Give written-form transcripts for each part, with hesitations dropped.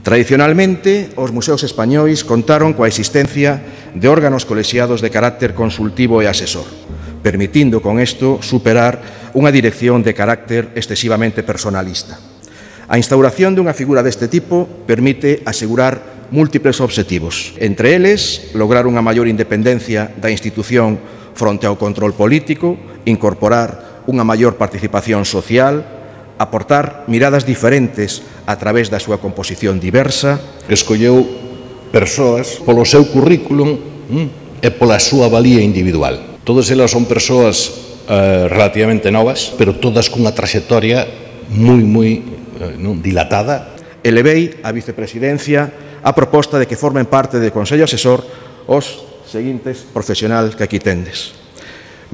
Tradicionalmente, os museos españois contaron coa existencia de órganos colexiados de carácter consultivo e asesor, permitindo con isto superar unha dirección de carácter excesivamente personalista. A instauración dunha figura deste tipo permite asegurar múltiples obxectivos. Entre eles, lograr unha maior independencia da institución fronte ao control político, incorporar unha maior participación social, aportar miradas diferentes a través da súa composición diversa. Escolleu persoas polo seu currículum e pola súa valía individual. Todas elas son persoas relativamente novas, pero todas cunha traxectoria moi dilatada. Elevei a vicepresidencia a proposta de que formen parte do Consello Asesor os seguintes profesionais que aquí tendes.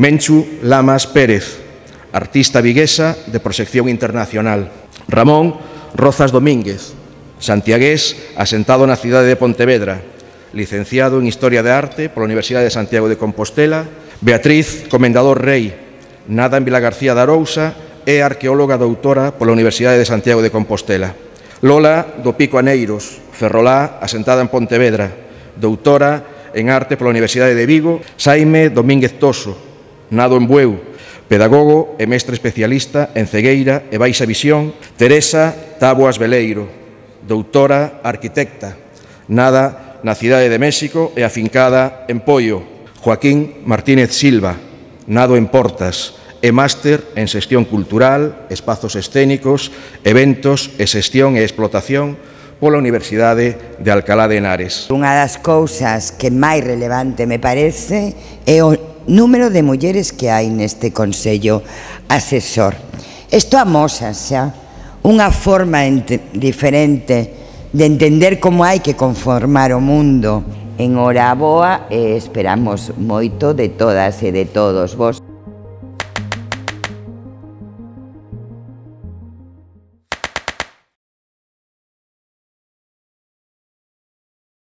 Menchu Lamas Pérez, artista viguesa de proxección internacional. Ramón Rozas Domínguez, santiagués asentado na cidade de Pontevedra, licenciado en Historia de Arte pola Universidade de Santiago de Compostela. Beatriz Comendador Rei, nada en Vilagarcía de Arousa, é arqueóloga doutora pola Universidade de Santiago de Compostela. Lola do Pico Aneiros, ferrolá, asentada en Pontevedra, doutora en Arte pola Universidade de Vigo. Xaime Domínguez Toso, nado en Bueu, pedagogo e mestre especialista en cegueira e baixa visión. Teresa Taboas Veleiro, doutora arquitecta, nada na cidade de México e afincada en Poio. Joaquín Martínez Silva, nado en Portas, e máster en xestión cultural, espazos escénicos, eventos e xestión e explotación pola Universidade de Alcalá de Henares. Unha das cousas que máis relevante me parece é o número de mulleres que hai neste Consello Asesor. Isto amosa xa unha forma diferente de entender como hai que conformar o mundo. En hora boa e esperamos moito de todas e de todos vos.